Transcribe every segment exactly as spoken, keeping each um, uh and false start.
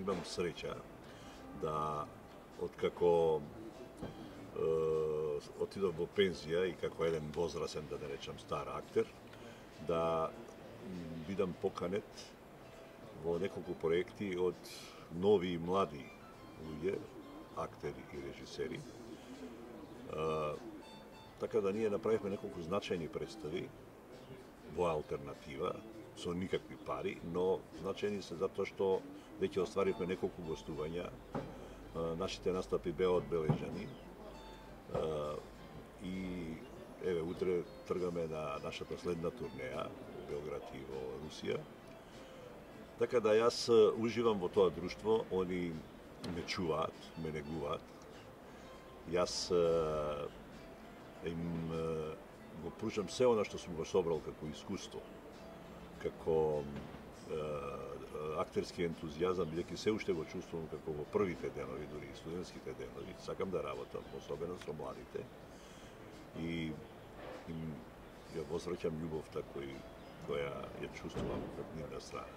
имам среќа да откако отидов во пензија и како еден возрасен, да не речам стар актер, да бидам поканет во неколку проекти од нови и млади луѓе, актери и режисери. Така да ние направивме неколку значајни представи во алтернатива, со никакви пари, но значајни се затоа што веќе остваривме неколку гостувања. Нашите настапи беа одбележани. И еве утре тргаме на нашата следна турнеја во Белград и во Русија. Така да јас уживам во тоа друштво, они ме чуваат, ме негуваат. Јас им го пружам се она што сум го собрал како искуство, како актерски ентузијазам, бидејќи се уште го чувствувам како во првите денови, дури и студентските денови, сакам да работам, особено со младите, и им ја возвраќам љубовта кој, која ја чувствувам од нивна страна.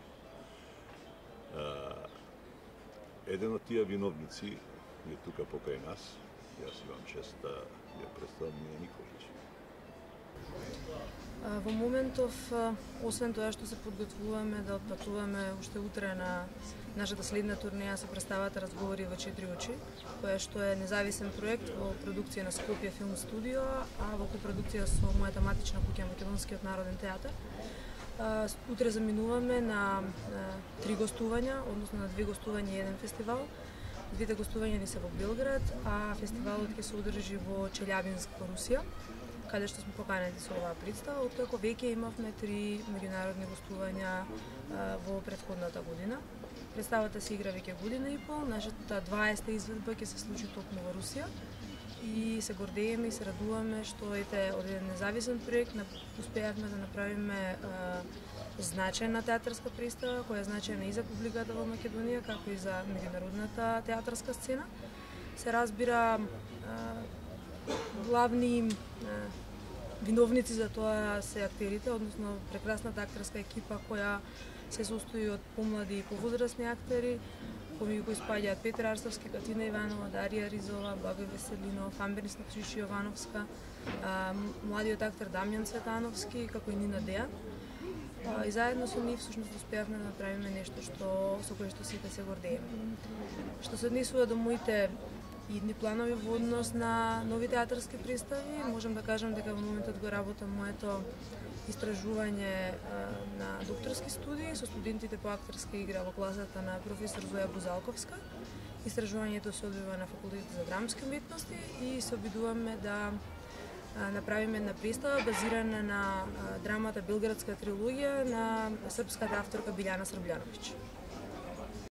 Еден од тие виновници е тука покрај нас, јас имам чест да ја представам Мија Николич. Во моментов, освен тоа што се подготвуваме да отпатуваме уште утре на нашата следна турнеја со представата Разговори во четири очи, која што е независен проект во продукција на Скопје филм студио, а во копродукција со мојата матична куќа Македонскиот народен театар. Утре заминуваме на три гостувања, односно на две гостувања и еден фестивал. Двете гостувања ни се во Белград, а фестивалот ќе се одржи во Челјабинск во Русија, каде што сме поканети со оваа представа, откако веќе имавме три меѓународни гостувања во претходната година. Представата се игра веќе година и пол, нашата дваесета изведба ќе се случи токму во Русија и се гордееме и се радуваме што ете од еден независен проект успеавме да направиме значајна театарска представа, која е значајна и за публиката во Македонија, како и за меѓународната театарска сцена. Се разбира, главни виновници за тоа се актерите, односно прекрасната актерска екипа која се состои од помлади и повозрастни актери, помеѓу кои спаѓаат Петра Арсовски, Катина Иванова, Дарија Ризова, Бабе Веселинов, Амберис Накшиши Јовановска, младиот актер Дамјан Цветановски, како и Нина Дејан. И заедно со нив всушност успеавме да направиме нешто што со кое што сите се гордееме. Што се однесува до моите идни планови во однос на нови театарски представи, можам да кажам дека во моментот го работам моето истражување на докторски студии со студентите по актерска игра во класата на професор Зоја Бузалковска. Истражувањето се одвива на факултетот за драмски уметности и се обидуваме да направиме една представа базирана на драмата Белградска трилогија на српската авторка Билјана Србљановиќ.